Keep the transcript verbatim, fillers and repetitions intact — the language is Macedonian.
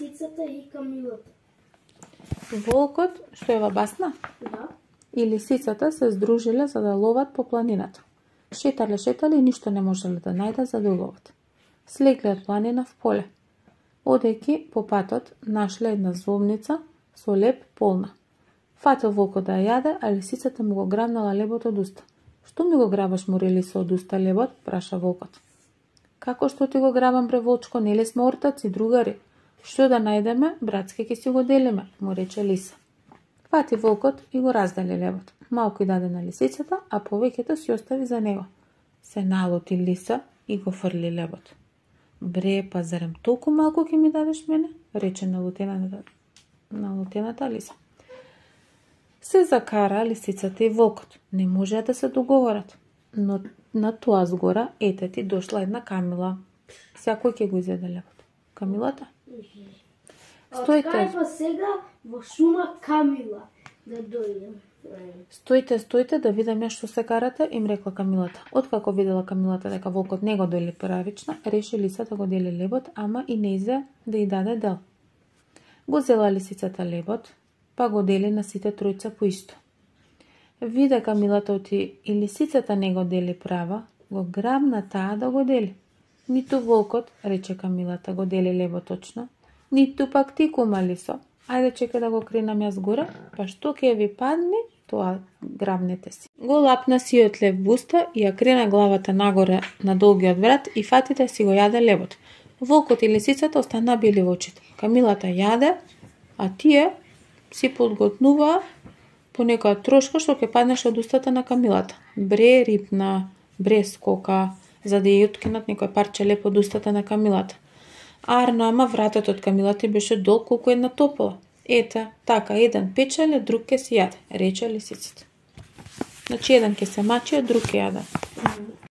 лисицата и камилата? Волкот, што е во басна, Да. и лисицата се здружиле за да ловат по планината. Шетале, шетале и ништо не можеле да најдат за да ловат. Слегле од планина в поле. Одејќи по патот нашле една зобница со леб полна. Фатил волкот да ја јаде, а лисицата му го грабнала лебот од уста. Што ми го грабаш, море лиса, од уста лебот? Праша волкот. Како што ти го грабам, бре волчко, нели сме ортаци, другари? Што да најдеме, братски ќе си го делиме, му рече лиса. Фати волкот и го раздели лебот. Малку и даде на лисицата, а повеќето си остави за него. Се налути лиса и го фрли лебот. Бре, па зарем толку малку ќе ми дадеш мене? Рече налутената, налутената лиса. Се закара лисицата и волкот. Не можеа да се договорат. Но на тоа згора, ете ти дошла една камила. Секој ќе го изеде лебот. Камилата? Стоите. Од па сега во шума камила да дојдем. Стоите, стоите да видам што се карате, им рекла камилата. Откако видела камилата дека волкот не го дели правично, реши лиса да го дели лебот, ама и не изе да ја даде дел. Го зела лисицата лебот, па го дели на сите тројца по исто. Виде камилата оти и лисицата не го дели права, го грабна таа да го дели. Ниту волкот, рече камилата, го дели лебот точно, ниту пак ти, кума лисо. Ајде чека да го кренам јас горе, па што ќе ви падне, тоа грабнете си. Го лапна сиот лев в уста и ја крена главата нагоре на долгиот врат и фати да си го јаде лебот. Волкот и лисицата остана бели во очите. Камилата јаде, а тие си подготнуваа по некоја трошка што ќе паднеше од устата на камилата. Бре рипна, бре скока, за да ја откинат некој парче леп од устата на камилата. Арно, ама вратот од камилата беше долг колку една топола. Ете, така, еден печеле, друг ке си јаде, рече лисицата. Значи, еден ке се мачи, а друг ке јаде.